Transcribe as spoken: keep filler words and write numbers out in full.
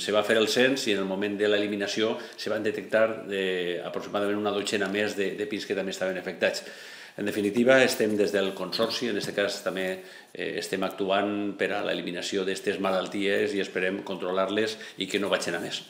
Se va fer el cens i en el moment de l'eliminació se van detectar eh, aproximadament una dotzena més de, de pins que també estaven afectats. En definitiva, estem des del Consorci, en aquest cas també eh, estem actuant per a l'eliminació d'aquestes malalties i esperem controlar-les i que no vagin a més.